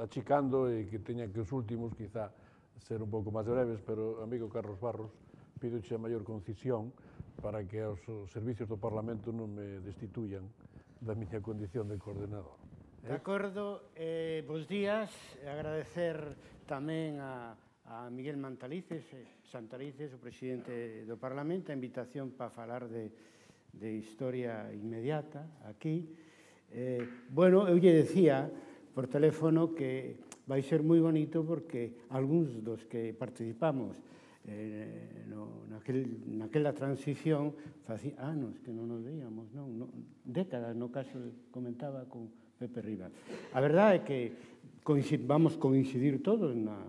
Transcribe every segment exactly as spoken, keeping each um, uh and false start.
achicando e que teña que os últimos quizá ser un pouco máis breves, pero, amigo Carlos Barros, pídoche a maior concisión para que os servicios do Parlamento non me destituyan da miña condición de coordenador. De acordo, eh, bos días, agradecer tamén a, a Miguel Mantalices, Santalices, o presidente do Parlamento, a invitación para falar de, de historia inmediata aquí. Eh, bueno, eu lle decía por teléfono que vai ser moi bonito porque algúns dos que participamos eh, no, naquel, naquela transición facía anos que non nos veíamos, non, non, décadas, no caso comentaba con Pepe Rivas. A verdade é que vamos coincidir todos na,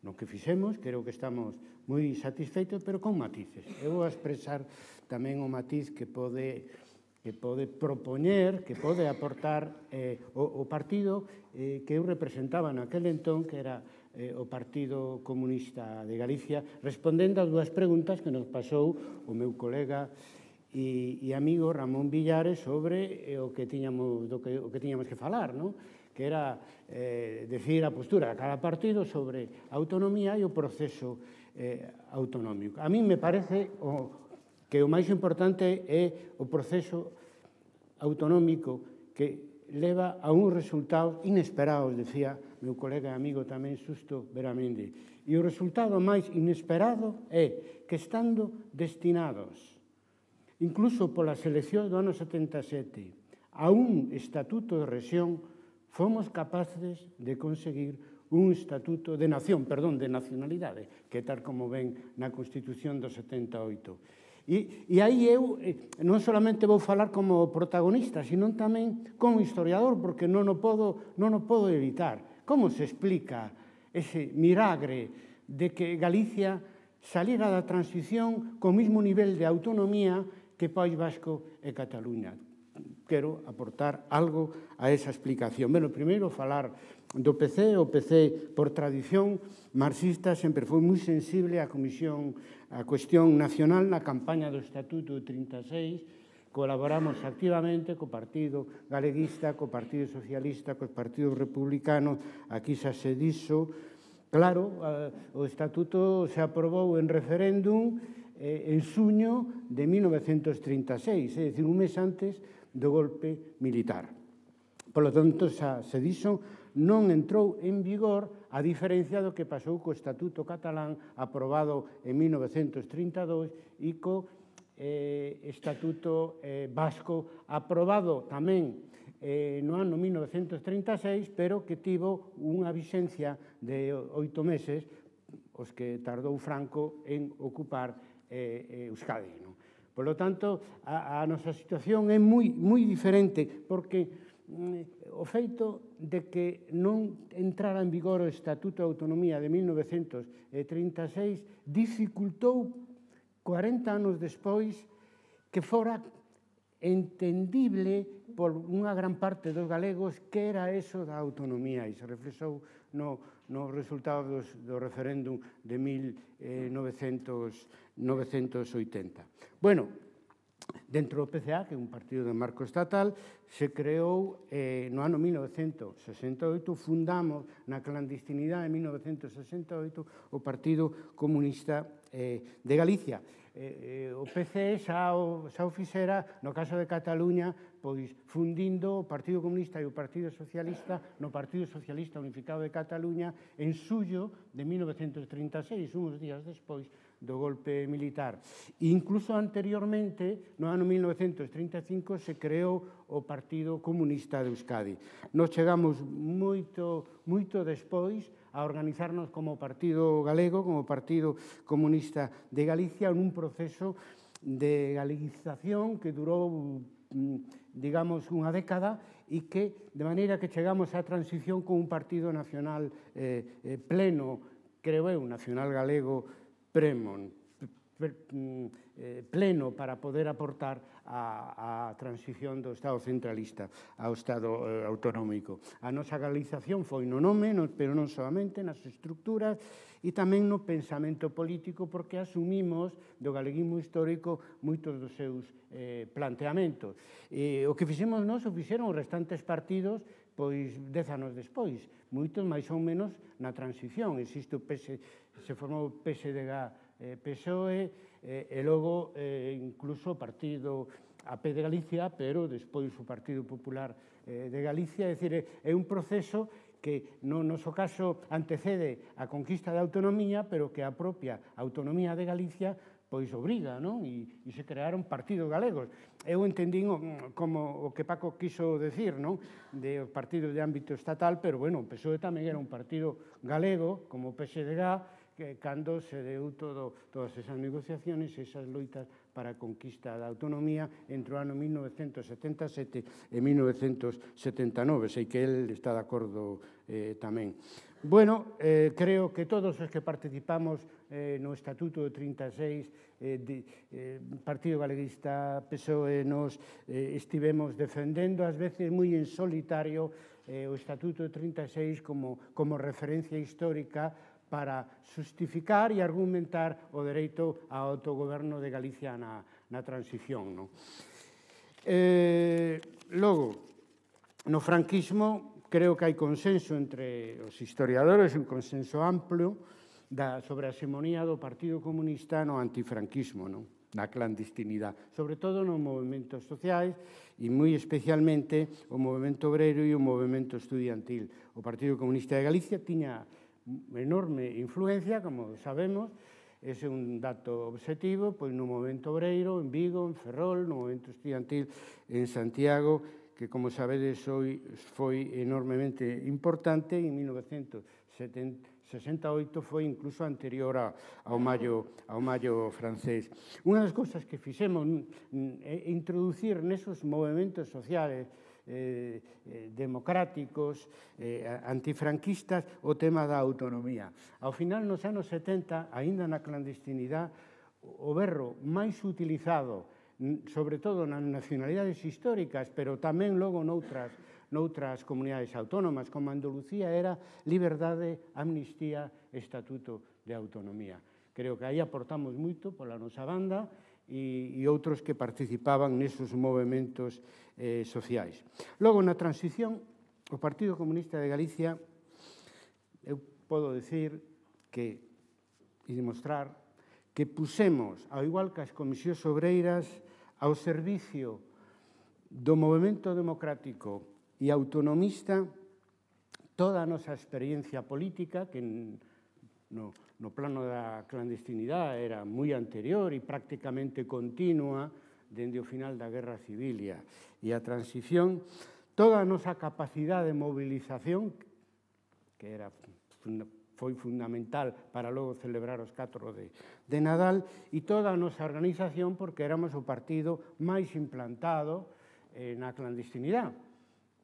no que fixemos, creo que estamos moi satisfeitos, pero con matices. Eu vou expresar tamén o matiz que pode que pode propoñer, que pode aportar eh, o, o partido eh, que eu representaba naquele entón, que era eh, o Partido Comunista de Galicia, respondendo ás dúas preguntas que nos pasou o meu colega e, e amigo Ramón Villares sobre eh, o, que tiñamos, do que, o que tiñamos que falar, non? Que era eh, decir a postura de cada partido sobre a autonomía e o proceso eh, autonómico. A mí me parece o, que o máis importante é o proceso autonómico que leva a uns resultados inesperados, decía meu colega e amigo tamén Susto Beramendi. E o resultado máis inesperado é que estando destinados, incluso polas eleccións do ano setenta e sete, a un estatuto de rexión, fomos capaces de conseguir un estatuto de nación, perdón, de nacionalidade, que tal como ven na Constitución do setenta e oito. E, e aí eu eh, non solamente vou falar como protagonista, sino tamén como historiador, porque non o podo, non o podo evitar. Como se explica ese milagre de que Galicia saliera da transición co mesmo nivel de autonomía que País Vasco e Cataluña? Quero aportar algo a esa explicación. Bueno, primeiro falar do P C. O P C, por tradición marxista, sempre foi moi sensible á comisión, á cuestión nacional na campaña do Estatuto trinta e seis. Colaboramos activamente co Partido Galeguista, co Partido Socialista, co Partido Republicano. Aquí xa se dixo. Claro, o Estatuto se aprobou en referéndum en xuño de mil novecentos trinta e seis, é dicir, un mes antes do golpe militar. Por lo tanto, xa se dixo, non entrou en vigor, a diferencia do que pasou co Estatuto catalán aprobado en mil novecentos trinta e dous e co eh, Estatuto eh, vasco aprobado tamén eh, no ano mil novecentos trinta e seis, pero que tivo unha vixencia de oito meses, os que tardou Franco en ocupar eh, Euskadi. Non? Por lo tanto, a, a nosa situación é moi, moi diferente, porque mm, o feito de que non entrara en vigor o Estatuto de Autonomía de mil novecentos trinta e seis dificultou cuarenta anos despois que fora entendible por unha gran parte dos galegos que era eso da autonomía, e se reflexou no, no resultado dos, do referéndum de mil novecentos oitenta. Bueno, dentro do P C A, que é un partido de marco estatal, se creou eh, no ano mil novecentos sesenta e oito, fundamos na clandestinidade de mil novecentos sesenta e oito o Partido Comunista eh, de Galicia. Eh, eh, o P C xa o, xa o fixera, no caso de Cataluña, pois fundindo o Partido Comunista e o Partido Socialista no Partido Socialista Unificado de Cataluña en xullo de mil novecentos trinta e seis, uns días despois do golpe militar. E incluso anteriormente, no ano mil novecentos trinta e cinco, se creou o Partido Comunista de Euskadi. Nos chegamos moito, moito despois a organizarnos como Partido Galego, como Partido Comunista de Galicia, en un proceso de galeguización que durou, digamos, unha década e que, de maneira que chegamos á transición con un partido nacional eh, eh, pleno, creo eu, nacional galego, premon, pleno para poder aportar a, a transición do Estado centralista ao Estado eh, autonómico. A nosa galización foi no nome, no, pero non solamente nas estructuras e tamén no pensamento político, porque asumimos do galeguismo histórico moitos dos seus eh, planteamentos. E o que fixemos nós o fixeron os restantes partidos pois dez anos despois, moitos máis ou menos na transición. Existe o P S, se formou o P S D G, P S O E, e logo incluso o partido A P de Galicia, pero despois o Partido Popular de Galicia. É dicir, é un proceso que no noso caso antecede a conquista da autonomía, pero que a propia autonomía de Galicia pois obriga, non? E, e se crearon partidos galegos. Eu entendín como o que Paco quiso decir, non? De partidos de ámbito estatal, pero, bueno, o P S O E tamén era un partido galego, como o P S D G, que cando se deu todo, todas esas negociaciones, esas loitas para a conquista da autonomía entre o ano mil novecentos setenta e sete e mil novecentos setenta e nove. Sei que el está de acordo eh, tamén. Bueno, eh, creo que todos os que participamos eh, no Estatuto de trinta e seis, eh, de, eh, Partido Galeguista, P S O E, nos eh, estivemos defendendo, ás veces moi en solitario, eh, o Estatuto de trinta e seis como, como referencia histórica para justificar e argumentar o dereito ao autogoberno de Galicia na, na transición. No? Eh, logo, no franquismo, creo que hai consenso entre os historiadores, un consenso amplio da, sobre a hegemonía do Partido Comunista no antifranquismo, no? Na clandestinidade, sobre todo nos movimentos sociais e moi especialmente o movimento obreiro e o movimento estudiantil. O Partido Comunista de Galicia tiña enorme influencia, como sabemos, ese é un dato objetivo, pois no movimento obreiro, en Vigo, en Ferrol, no movimento estudiantil en Santiago, que, como sabedes, foi enormemente importante. En mil novecentos sesenta e oito foi incluso anterior ao Maio, ao Maio francés. Unha das cousas que fixemos é introducir nesos movimentos sociales Eh, eh, democráticos, eh, antifranquistas, o tema da autonomía. Ao final, nos anos setenta, aínda na clandestinidade, o berro máis utilizado, sobre todo nas nacionalidades históricas, pero tamén logo noutras, noutras comunidades autónomas, como Andalucía, era liberdade, amnistía, estatuto de autonomía. Creo que aí aportamos moito pola nosa banda, e, e outros que participaban nesos movimentos eh, sociais. Logo, na transición, o Partido Comunista de Galicia, eu podo decir que, e demostrar, que pusemos, ao igual que as comisións obreiras, ao servicio do movimento democrático e autonomista toda a nosa experiencia política, que no no plano da clandestinidade era moi anterior e prácticamente continua dende o final da Guerra Civil e a transición, toda a nosa capacidade de movilización, que era, foi fundamental para logo celebrar os catro de, de Nadal, e toda a nosa organización, porque éramos o partido máis implantado eh, na clandestinidade,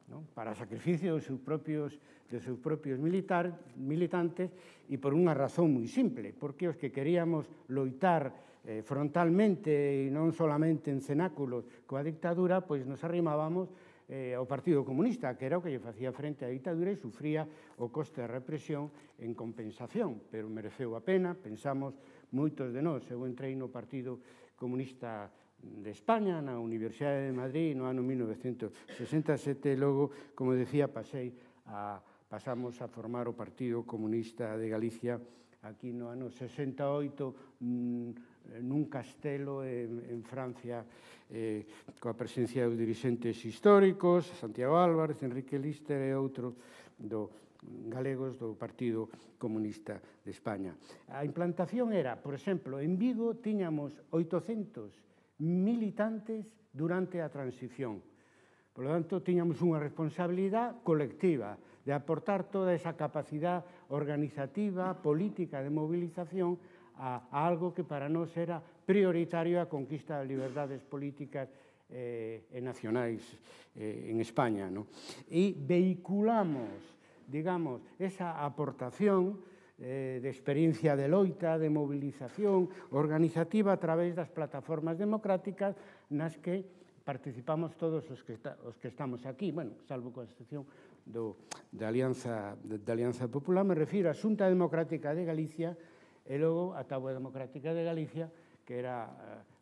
¿no? Para sacrificio dos seus propios, dos seus propios militar, militantes, e por unha razón moi simple, porque os que queríamos loitar eh, frontalmente e non solamente en cenáculos coa dictadura, pois nos arrimábamos eh, ao Partido Comunista, que era o que lle facía frente á dictadura e sufría o coste de represión en compensación, pero mereceu a pena, pensamos moitos de nós. Eu entrei no Partido Comunista de España, na Universidade de Madrid, no ano mil novecentos sesenta e sete, e logo, como decía, pasei a, pasamos a formar o Partido Comunista de Galicia aquí no ano sesenta e oito, nun castelo en, en Francia, eh, coa presencia dos dirixentes históricos, Santiago Álvarez, Enrique Lister e outros do galegos do Partido Comunista de España. A implantación era, por exemplo, en Vigo tiñamos oitocentos militantes durante a transición. Por lo tanto, tiñamos unha responsabilidade colectiva de aportar toda esa capacidade organizativa, política, de movilización a, a algo que para nós era prioritario, a conquista das liberdades políticas eh, e nacionais eh, en España, ¿no? E vehiculamos, digamos, esa aportación de experiencia de loita, de movilización organizativa a través das plataformas democráticas nas que participamos todos os que, está, os que estamos aquí, bueno, salvo con a excepción do, da, Alianza, da Alianza Popular, me refiro á Xunta Democrática de Galicia e logo a Táboa Democrática de Galicia, que era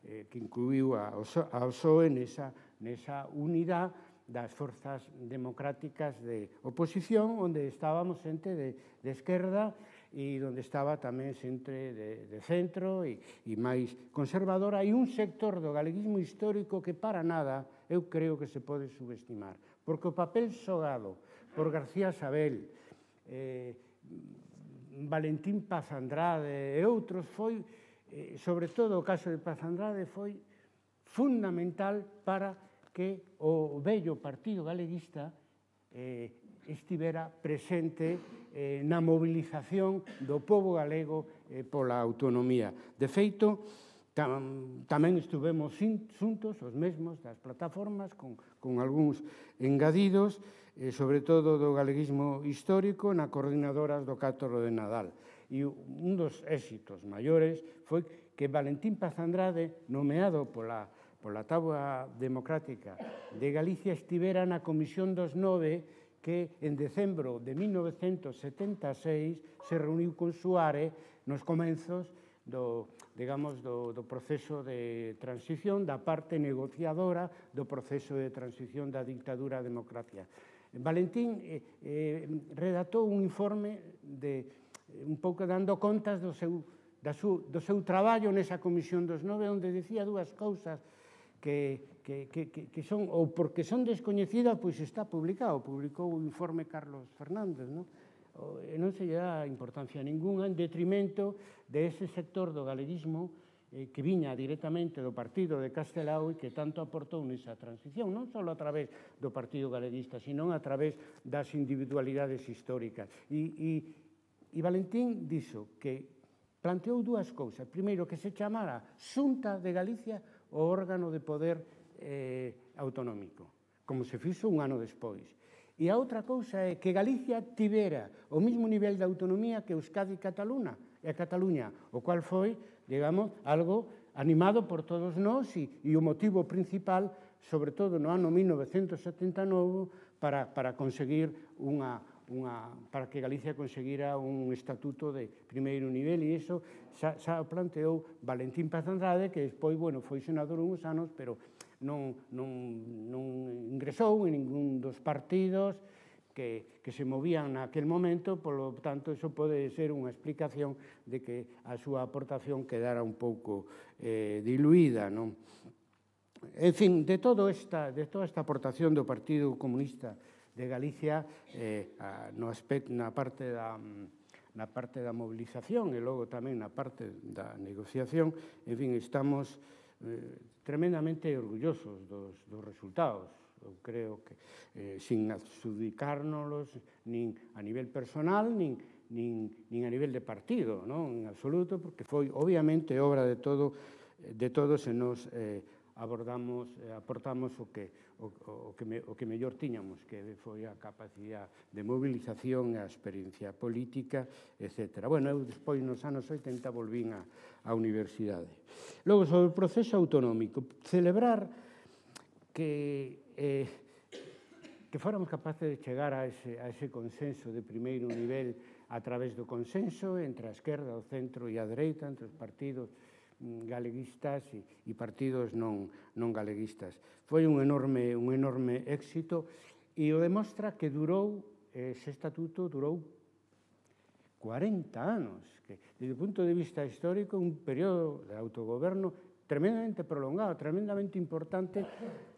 eh, que incluiu a, a O S O E nesa, nesa unidade das forzas democráticas de oposición, onde estábamos xente de, de esquerda e onde estaba tamén xente de, de centro e, e máis conservadora, e un sector do galeguismo histórico que para nada eu creo que se pode subestimar, porque o papel xogado por García Sabel, eh, Valentín Paz Andrade e outros foi, eh, sobre todo o caso de Paz Andrade, foi fundamental para que o vello Partido Galeguista eh, estivera presente eh, na mobilización do pobo galego eh, pola autonomía. De feito, tam, tamén estuvemos xuntos, os mesmos das plataformas, con, con algúns engadidos, eh, sobre todo do galeguismo histórico, na coordinadoras do catro de Nadal. E un dos éxitos maiores foi que Valentín Paz Andrade, nomeado pola pola Táboa Democrática de Galicia, estivera na Comisión dos Nove que en decembro de mil novecentos setenta e seis se reuniu con Suárez nos comenzos do, digamos, do, do proceso de transición, da parte negociadora do proceso de transición da dictadura democrática. Valentín eh, eh, redactou un informe de, un pouco dando contas do seu, da su, do seu traballo nesa Comisión dos Nove, onde decía dúas cousas que, que, que, que son, ou porque son descoñecidas, pois está publicado, publicou o informe Carlos Fernández, non? E non se lle dá importancia ninguna en detrimento de ese sector do galeguismo eh, que viña directamente do partido de Castelao e que tanto aportou nesa transición, non só a través do Partido Galeguista, sino a través das individualidades históricas. E, e, e Valentín dixo que planteou dúas cousas. Primeiro, que se chamara Xunta de Galicia o órgano de poder eh, autonómico, como se fixo un ano despois. E a outra cousa é que Galicia tivera o mesmo nivel de autonomía que Euskadi e Cataluña, e Cataluña, o cual foi, digamos, algo animado por todos nós e, e o motivo principal, sobre todo no ano mil novecentos setenta e nove, para, para conseguir unha Unha, para que Galicia conseguira un estatuto de primeiro nivel, e iso xa, xa planteou Valentín Paz Andrade, que despois, bueno, foi senador uns anos, pero non, non, non ingresou en ningún dos partidos que, que se movían naquel momento, polo tanto, iso pode ser unha explicación de que a súa aportación quedara un pouco eh, diluída, non? En fin, de, todo esta, de toda esta aportación do Partido Comunista de Galicia, eh, no aspecto, na parte da, na parte da mobilización e logo tamén na parte da negociación, en fin, estamos eh, tremendamente orgullosos dos, dos resultados. Eu creo que eh, sin adjudicárnoslos nin a nivel personal, nin, nin, nin a nivel de partido, non? En absoluto, porque foi obviamente obra de todo, de todos e nos eh, abordamos, eh, aportamos o que, o, o, que me, o que mellor tiñamos, que foi a capacidade de mobilización, a experiencia política, etcétera. Bueno, eu despois nos anos oitenta volvín á, á universidade. Logo, sobre o proceso autonómico, celebrar que, eh, que fóramos capaces de chegar a ese, a ese consenso de primeiro nivel a través do consenso entre a esquerda, o centro e a dereita, entre os partidos galeguistas e, e partidos non, non galeguistas. Foi un enorme, un enorme éxito e o demostra que durou, ese estatuto durou cuarenta anos, que desde o punto de vista histórico un período de autogoberno tremendamente prolongado, tremendamente importante,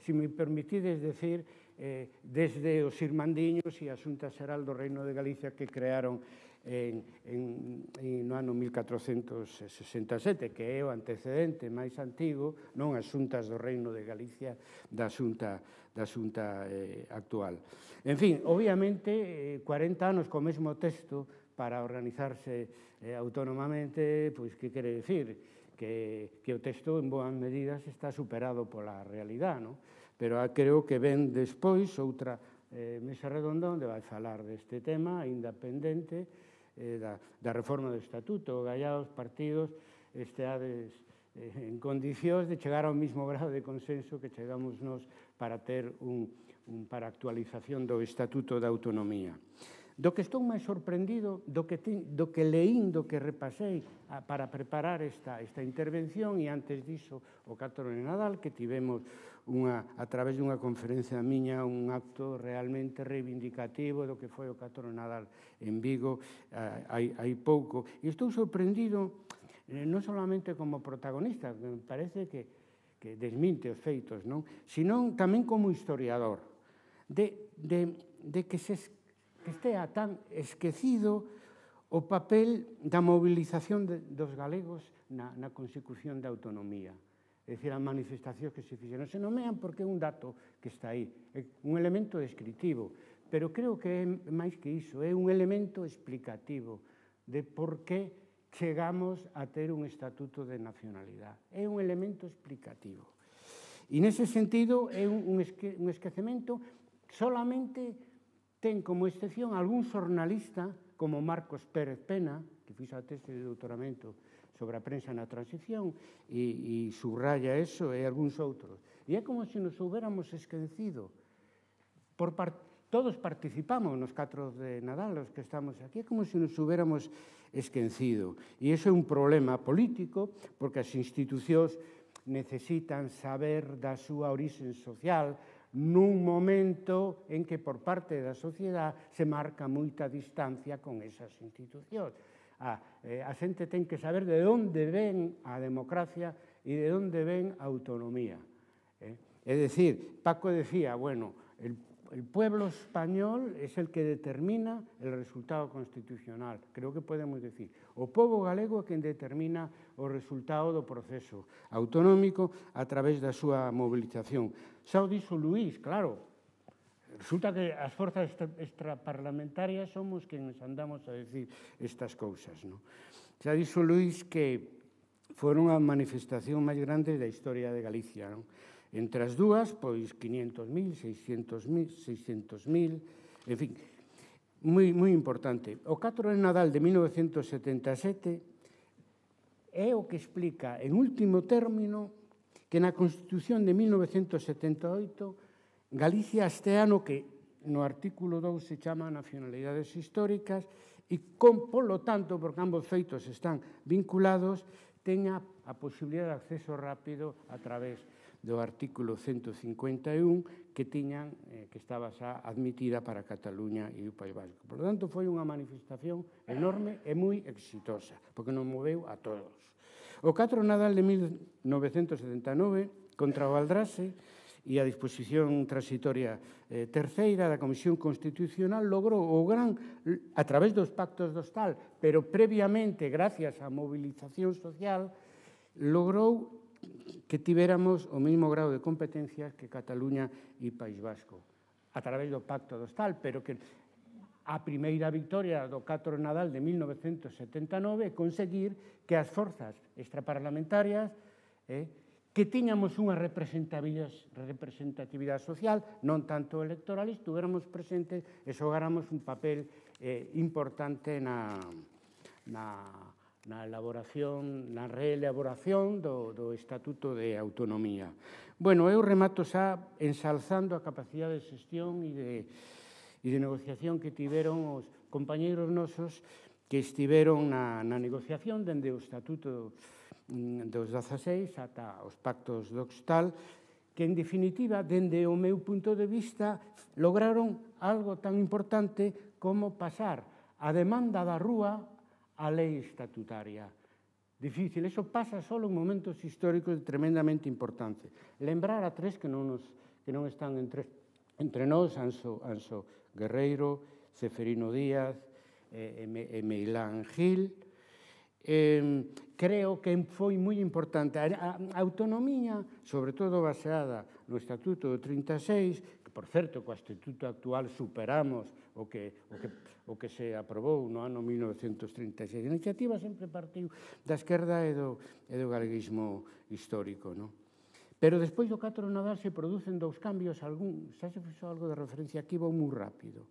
se me permitides decir, eh, desde os irmandiños e a Xunta Xeral do Reino de Galicia que crearon En, en, en, no ano mil catrocentos sesenta e sete, que é o antecedente máis antigo, non as xuntas do Reino de Galicia da xunta, da xunta eh, actual. En fin, obviamente, eh, cuarenta anos co mesmo texto para organizarse eh, autónomamente, pois que quere decir? Que, que o texto en boas medidas está superado pola realidade, non? Pero creo que ven despois outra eh, mesa redonda onde vai falar deste tema, ainda pendente, Eh, da, da reforma do estatuto. Gallá os partidos esteades eh, en condicións de chegar ao mismo grado de consenso que chegamos nós para ter un, un para actualización do estatuto da autonomía. Do que estou máis sorprendido, do que, te, do que leín, do que repasei a, para preparar esta, esta intervención, e antes diso o catro de Nadal, que tivemos unha, a través dunha conferencia miña un acto realmente reivindicativo do que foi o catro de Nadal en Vigo eh, hai, hai pouco. E estou sorprendido, eh, non solamente como protagonista, que me parece que, que desminte os feitos, non? Sino tamén como historiador, de, de, de que se que estea tan esquecido o papel da mobilización de, dos galegos na, na consecución da autonomía. É dicir, as manifestacións que se fixeron se nomean porque é un dato que está aí, é un elemento descritivo, pero creo que é máis que iso, é un elemento explicativo de por que chegamos a ter un estatuto de nacionalidade. É un elemento explicativo. E nese sentido é un, un, esque, un esquecemento solamente ten como excepción algún xornalista como Marcos Pérez Pena, que fixo a tese de doutoramento sobre a prensa na transición e, e subraya eso, e algúns outros. E é como se nos hubiéramos esquecido. Por par, todos participamos nos catro de Nadal, os que estamos aquí, é como se nos hubiéramos esquecido. E iso é un problema político, porque as institucións necesitan saber da súa orixe social, nun momento en que por parte da sociedade se marca moita distancia con esas institucións. A, eh, a xente ten que saber de onde ven a democracia e de onde ven a autonomía. Eh? É dicir, Paco decía, bueno, el, el pueblo español es el que determina el resultado constitucional. Creo que podemos decir, o pobo galego é quen determina o resultado do proceso autonómico a través da súa mobilización. Xa o dixo Luís, claro, resulta que as forzas extraparlamentarias somos quenes andamos a decir estas cousas, non? Xa dixo Luís que foron a manifestación máis grande da historia de Galicia, non? Entre as dúas, pois, quinientos mil, seiscentos mil, en fin, moi, moi importante. O catro de Nadal de mil novecentos setenta e sete é o que explica, en último término, que na Constitución de mil novecentos setenta e oito Galicia este ano, que no artículo dous se chama nacionalidades históricas, e con, polo tanto, porque ambos feitos están vinculados, teña a posibilidade de acceso rápido a través do artículo ciento cincuenta e un que tiñan, eh, que estaba xa admitida para Cataluña e o País Vasco. Por lo tanto, foi unha manifestación enorme e moi exitosa, porque nos moveu a todos. O catro de Nadal de mil novecentos setenta e nove, contra o Valdrase e a disposición transitoria eh, terceira da Comisión Constitucional, logrou o gran, a través dos pactos do Hostal, pero previamente, gracias á movilización social, logrou que tivéramos o mesmo grado de competencias que Cataluña e País Vasco, a través do pacto do Hostal, pero que a primeira victoria do catro de Nadal de mil novecentos setenta e nove é conseguir que as forzas extraparlamentarias eh, que tiñamos unha representatividade, representatividade social, non tanto electoral, estuviéramos presentes e xogáramos un papel eh, importante na, na, na elaboración, na reelaboración do, do Estatuto de Autonomía. Bueno, eu remato xa ensalzando a capacidade de xestión e de, e de negociación que tiveron os compañeiros nosos que estiveron na, na negociación dende o Estatuto dos dezaseis ata os pactos do Hostal, que, en definitiva, dende o meu punto de vista, lograron algo tan importante como pasar a demanda da rúa á lei estatutaria. Difícil, eso pasa só en momentos históricos de tremendamente importancia. Lembrar a tres que non, nos, que non están entre, entre nós, Anso, Anso Guerreiro, Ceferino Díaz e, e Meilán Gil. Eh, creo que foi moi importante. A, a autonomía, sobre todo baseada no Estatuto do trinta e seis, que, por certo, co Estatuto actual superamos o que, o que, o que se aprobou no ano mil novecentos trinta e seis. A iniciativa sempre partiu da esquerda e do, e do galeguismo histórico, non? Pero despois do catro de Nadal se producen dous cambios, algún, xa se fixo algo de referencia aquí, vou moi rápido,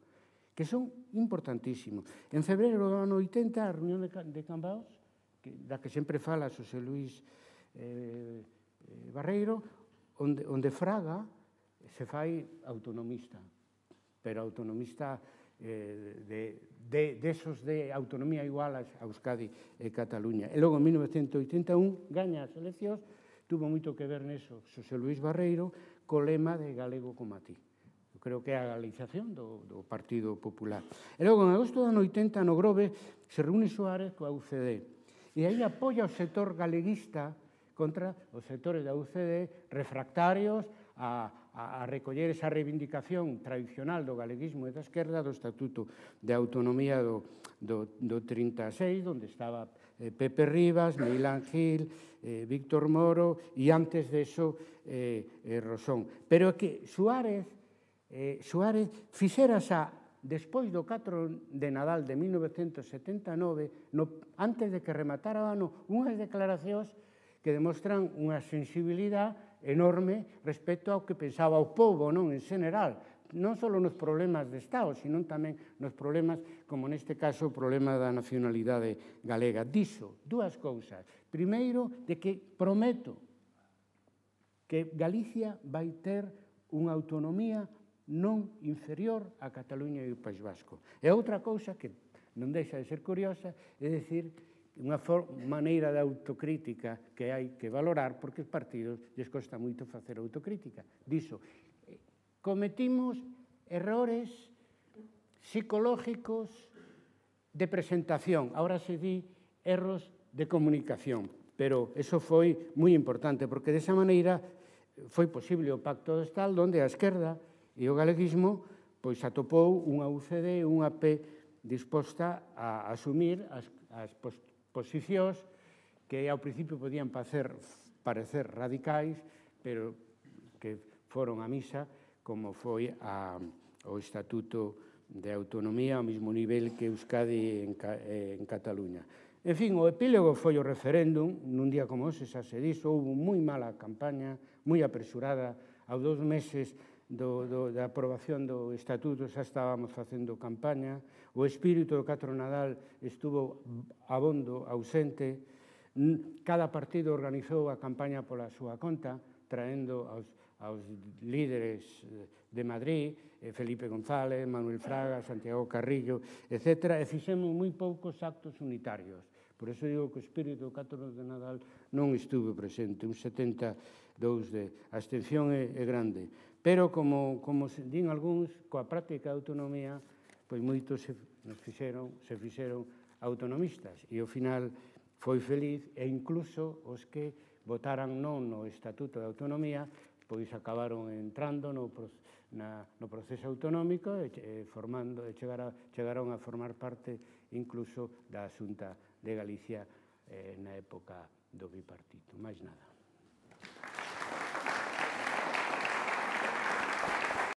que son importantísimos. En febreiro do ano oitenta, a reunión de, de Cambaos, que, da que sempre fala Xosé Luís eh, eh, Barreiro, onde, onde Fraga se fai autonomista, pero autonomista eh, de, de, de esos de autonomía igual a Euskadi e Cataluña. E logo, en mil novecentos oitenta e un, gaña as eleccións, tuvo moito que ver neso Xosé Luís Barreiro, co lema de galego como a ti. Eu creo que é a galización do, do Partido Popular. E logo, en agosto do ano oitenta, no Grove, se reúne Suárez coa U C D. E aí apoia o sector galeguista contra os sectores da U C D refractarios a, a, a recoller esa reivindicación tradicional do galeguismo e da esquerda do Estatuto de Autonomía do, do, do trinta e seis, onde estaba eh, Pepe Rivas, Milán Gil, eh, Víctor Moro e antes de eso eh, eh, Rosón. Pero que Suárez, eh, Suárez fixera xa despois do catro de Nadal de mil novecentos setenta e nove, no, antes de que rematara o ano, unhas declaracións que demostran unha sensibilidade enorme respecto ao que pensaba o povo, non, en general, non só nos problemas de Estado, sino tamén nos problemas, como neste caso, o problema da nacionalidade galega. Dixo dúas cousas. Primeiro, de que prometo que Galicia vai ter unha autonomía non inferior a Cataluña e o País Vasco. E outra cousa que non deixa de ser curiosa, é dicir, unha maneira de autocrítica que hai que valorar, porque os partidos lles costa moito facer autocrítica. Dixo, cometimos errores psicológicos de presentación, ahora se di erros de comunicación, pero eso foi moi importante, porque desa maneira foi posible o Pacto do Estado, onde a esquerda e o galeguismo pois atopou unha U C D, unha P disposta a asumir as, as posicións que ao principio podían parecer, parecer radicais, pero que foron a misa, como foi a, o Estatuto de Autonomía ao mesmo nivel que Euskadi en, en Cataluña. En fin, o epílogo foi o referéndum, nun día como ese xa se dixo, houve moi mala campaña, moi apresurada, aos dous meses do, do, da aprobación do Estatuto xa estábamos facendo campaña, o espírito do catro Nadal estuvo abondo, ausente, cada partido organizou a campaña pola súa conta, traendo aos, aos líderes de Madrid, Felipe González, Manuel Fraga, Santiago Carrillo, etcétera, e fixemos moi poucos actos unitarios. Por eso digo que o espírito do catro de Nadal non estuvo presente, un setenta e dous de abstención é, é grande. Pero, como, como din algúns, coa práctica de autonomía, pois moitos se, nos fixeron, se fixeron autonomistas, e ao final foi feliz, e incluso os que votaran non no Estatuto de Autonomía, pois acabaron entrando no, na, no proceso autonómico e, e, formando, e chegara, chegaron a formar parte incluso da Xunta de Galicia eh, na época do bipartito. Mais nada.